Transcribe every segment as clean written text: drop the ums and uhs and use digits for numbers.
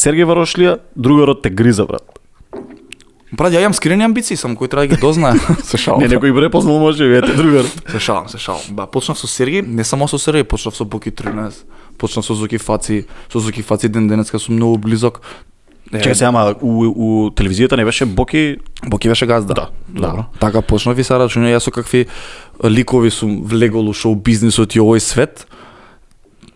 Сергеј Варошлија, другарот те гриза, брат. Брат, ја имам скрени амбиции, само кој треба да ги дознае. Се шалам. Не, некој препознал може, вете, другар. Се шалам. Ба, почнав со Сергеј, не само со Сергеј, почнав со Боки 13, почнав со Зоки Фаци, ден денеска сум многу близок. Чекај се, ама у телевизијата не беше Боки? Боки беше газда. Да, добро. Така почнав и сега рачуна јас со какви ликови сум влегол у шоу бизнисот и овој свет.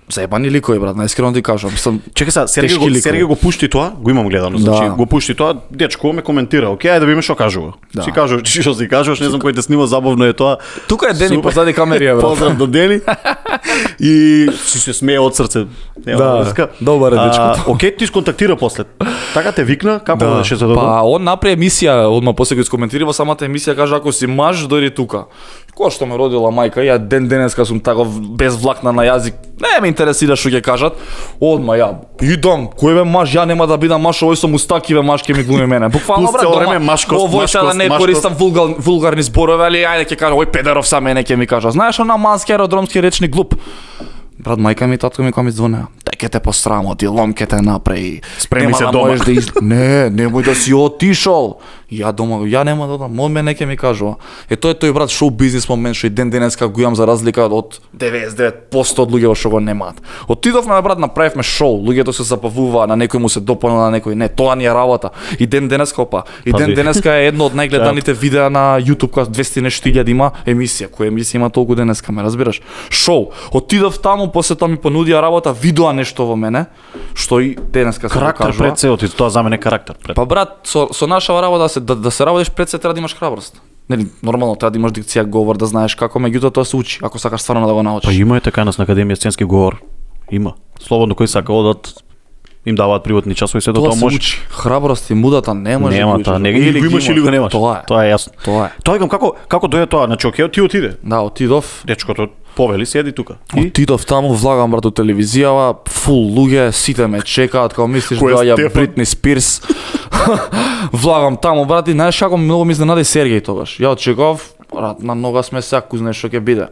Заебани ликови, брат, најискрено ти кажам. Чекај се, Сергеј го пушти тоа, го имам гледано, значи го пушти тоа, дечко ме коментира. Океј, ајде да видиме што кажува. Си кажуваш, што си кажуваш, не знам кој те снима, забавно е тоа. Тука е Дени позади камери, брат. Поздрав до Дени. И си се смее од срце. Да, добар е дечкото. Океј, ти сконтактира после. Така те викна, како беше за добро? Па он направи емисија, одма после го искоментира во самата емисија, кажа ако си маж, дојди тука. Која што ме родила мајка, ја ден денеска сум тако без влакна на јазик. Не ме интересира што ќе кажат. Одма ја идам, кој бе маж, ја нема да бидам маж, овој со мустаки бе маж ќе ми глуми мене. Буквално брат, дома. Овој сега да не користам вулгарни зборови, али ајде ќе кажа, ој педеров са мене ќе ми кажа. Знаеш она мански аеродромски речни глуп. Брат, мајка ми и татко ми кога ми звонеа. Те те посрамоти, лом ќе те направи. Спреми се дома. Не, немој да си отишол. Ја дома, ја нема да одам, он мене ќе ми кажува. Тоа е тој брат шоу бизнис момент што и ден денеска го имам за разлика од 99% од луѓето што го немаат. Отидовме брат, направивме шоу, луѓето се забавуваа, на некој му се допадна, на некој не, тоа ни е работа. И ден денеска и ден денеска е едно од најгледаните видеа на YouTube, кога 200 нешто илјади има емисија, која емисија има толку денеска, ме разбираш? Шоу. Отидов таму, после тоа ми понудија работа, видоа нешто во мене, што и денеска се карактер покажува. Пред се, тоа за мене карактер пред. Па брат, со наша работа да се работиш пред се треба да имаш храброст. Нели, нормално треба да имаш дикција, говор, да знаеш како, меѓутоа тоа се учи, ако сакаш стварно да го научиш. Па има така нас на Академија сценски говор. Има. Слободно кој сака одат им даваат приватни часови, се тоа може. Учи. Храброст и мудата не може да учиш. Или го имаш или го немаш. Тоа е јасно. Тоа е како дое тоа, значи окей, ти отиде. Да, отидов. Дечкото повели седи тука. Отидов таму, влагам брат у телевизијава, фул луѓе, сите ме чекаат, као мислиш доаѓа Бритни Спирс. Влагам таму брат и знаеш како многу ми изненади Сергеј тогаш. Ја очекував, брат, на нога сме саку, знаеш што ќе биде.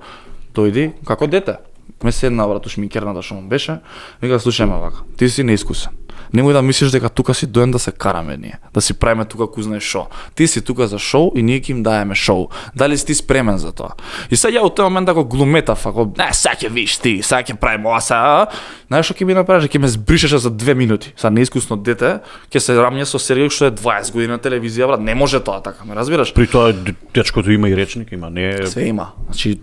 Дојди како дете. Ме седна брат у шминкерната што му беше. Вика слушај ме вака, ти си неискусен. Немој да мислиш дека тука си доен да се караме ние, да си правиме тука кој знае шо. Ти си тука за шоу и ние ќе им даеме шоу. Дали си ти спремен за тоа? И сега ја од тој момент да го глуметав, ако сега ќе виш ти, сега ќе правиме ова сега. Знаеш што ќе ми направиш? Ќе ме збришеше за 2 минути. Са неискусно дете, ќе се рамне со Сергеј што е 20 години на телевизија, брат, не може тоа така, ме разбираш? При тоа дечкото има и речник, има, не све има. Значи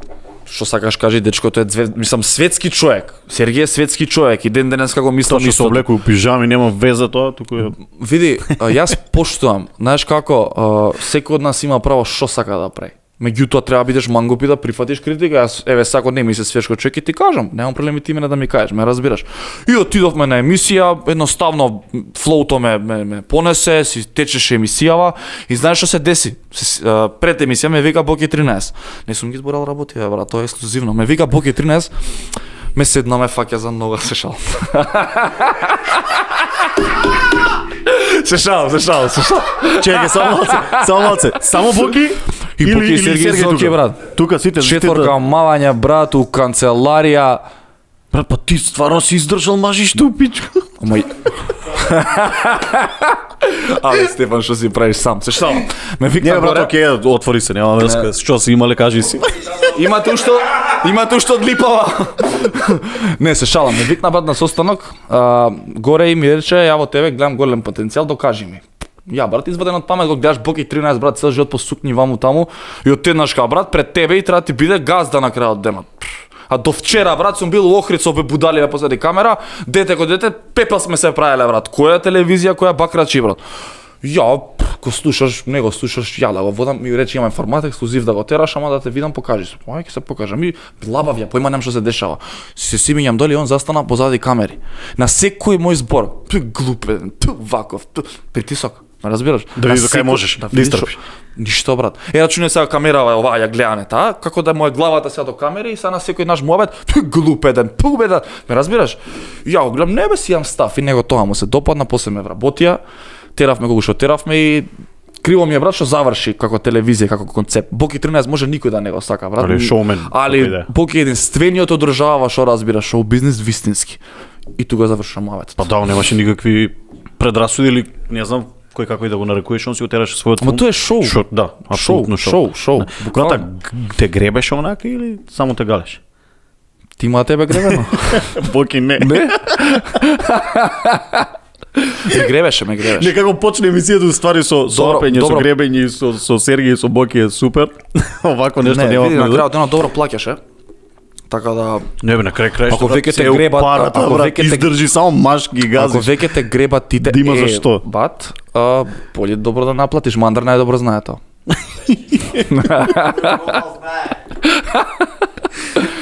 што сакаш кажи, дечкото е мислам светски човек. Сергеј е светски човек и ден денеска го мислам исто. Тоа што се облекува у пижами, нема веза тоа, туку е. Види, јас поштувам. Знаеш како, секој од нас има право што сака да прави. Меѓутоа треба бидеш мангуп и да прифатиш критика. Јас еве сако не ми се свешко човек и ти кажам, немам проблеми ти мене да ми кажеш, ме разбираш. И отидовме на емисија, едноставно флоуто ме понесе, си течеше емисијава и знаеш што се деси? Пред емисија ме вика Боки 13. Не сум ги зборал работи, брат, тоа е ексклузивно. Ме вика Боки 13, ме седна ме фаќа за нога, се шалам. Се шалам. Чекај, само малце. Само Боки и Боки Сергеј Зоки, брат. Тука сите четворка мавања, брат, у канцеларија. Брат, па ти стварно си издржал мажишто, пичка. Ама Але Стефан, што си правиш сам? Се шалам. Ме викна горе. Не, брат, окей, отвори се, нема врска. Што си имале, кажи си. Имате ушто од липава. Не, се шалам. Ме викна брат на состанок. Горе и ми рече, ја во тебе гледам голем потенцијал, докажи ми. Ја брат, изваден од памет, го гледаш Боки 13 брат, цел живот по сукни ваму таму и отеднаш ка брат пред тебе и треба ти биде газда на крајот денот. А до вчера, брат, сум бил у Охрид со будалија позади камера, дете ко дете, пепел сме се правеле, брат. Која телевизија, која бакрачи, брат. Ја, го слушаш, не го слушаш, ја да го водам, ми рече имам формат ексклузив да го тераш, ама да те видам, покажи се. Ај, ќе се покажам. Ми лабав ја, поима нем што се дешава. Се симињам доли, он застана позади камери. На секој мој збор, глупен, ваков, притисок. Ме разбираш? Да видиш кај можеш, да истрпиш. Ништо брат. Рачуне сега камерава оваа ја гледане таа, како да моја главата сега до камери и сега на секој наш муабет, глупеден, пубеден. Ме разбираш? Ја го гледам, не бе си имам став и него тоа му се допадна, после ме вработија, теравме колку што теравме и криво ми е брат што заврши како телевизија, како концепт. Боки 13 може никој да не го сака, брат. Али шоумен. Али Боки единствениот одржава што разбира шоу бизнис вистински. И тука завршува муабет. Па да, немаше никакви предрасуди или не знам кој како и да го нарекуваш, он си го тераше својот филм. Ама тоа е шоу. Да, апсолутно шоу. Буквално те гребеше онака или само те галеше? Ти има тебе гребено? Боки не. Не? Ме гребеше. Некако почне емисијата уствари со лапење, со гребење, со Сергеј, со Боки е супер. Овако нешто нема. Не, на крајот едно добро плаќаше. Така да не бе на крај ако веќе те гребат, ако веќе издржи само маш ги гази. Ако веќе те гребат тите дима зашто? Бат, поле добро да наплатиш, мандар најдобро знае тоа.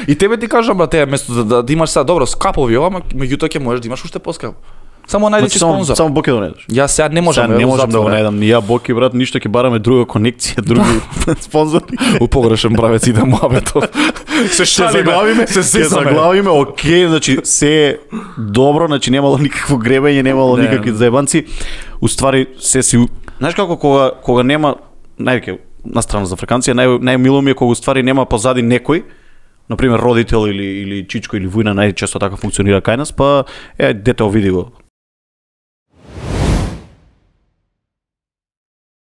И тебе ти кажам брате, место да имаш сега добро скапови ова, меѓутоа ќе можеш да имаш уште поскапо. Само најди си спонзор. Само Боки да најдеш. Јас сега не можам да го најдам. Ни ја Боки брат, ништо ќе бараме друга конекција, други спонзори. У погрешен правец иде муабетот. Се заглавиме, окей, значи се добро, значи немало никакво гребење, немало никакви заебанци. Уствари се си, знаеш како кога нема највеќе на страна за Африканција, најмило ми е кога уствари нема позади некој, например родител или чичко или вујна, најчесто така функционира кај нас, па дете види го.